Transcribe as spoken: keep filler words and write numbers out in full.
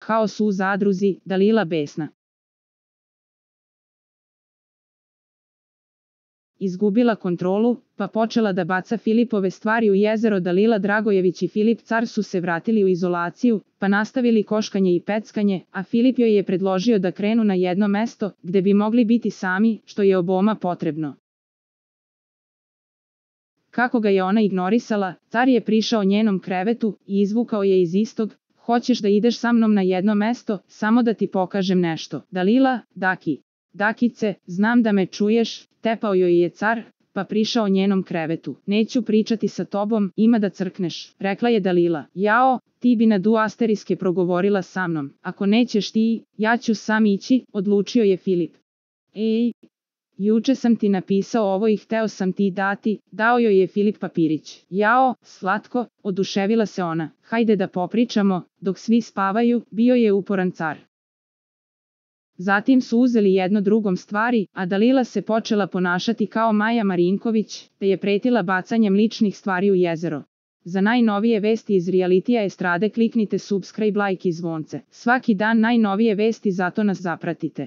haos u zadruzi, Dalila besna. Izgubila kontrolu, pa počela da baca Filipove stvari u jezero. Dalila Dragojević i Filip Car su se vratili u izolaciju, pa nastavili koškanje i peckanje, a Filip joj je predložio da krenu na jedno mesto, gde bi mogli biti sami, što je oboma potrebno. Kako ga je ona ignorisala, Car je prišao njenom krevetu i izvukao je iz istog: "Hoćeš da ideš sa mnom na jedno mesto, samo da ti pokažem nešto." Dalila: "Daki, Dakice, znam da me čuješ," tepao joj je Car, pa prišao njenom krevetu. "Neću pričati sa tobom, ima da crkneš," rekla je Dalila. "Jao, ti bi na du asteriske progovorila sa mnom. Ako nećeš ti, ja ću sam ići," odlučio je Filip. "Ej, juče sam ti napisao ovo i hteo sam ti dati," dao joj je Filip papirić. "Jao, slatko," oduševila se ona. "Hajde da popričamo, dok svi spavaju," bio je uporan Car. Zatim su uzeli jedno drugom stvari, a Dalila se počela ponašati kao Maja Marinković, te je pretila bacanjem ličnih stvari u jezero. Za najnovije vesti iz realitija estrade kliknite subscribe, like i zvonce. Svaki dan najnovije vesti, zato nas zapratite.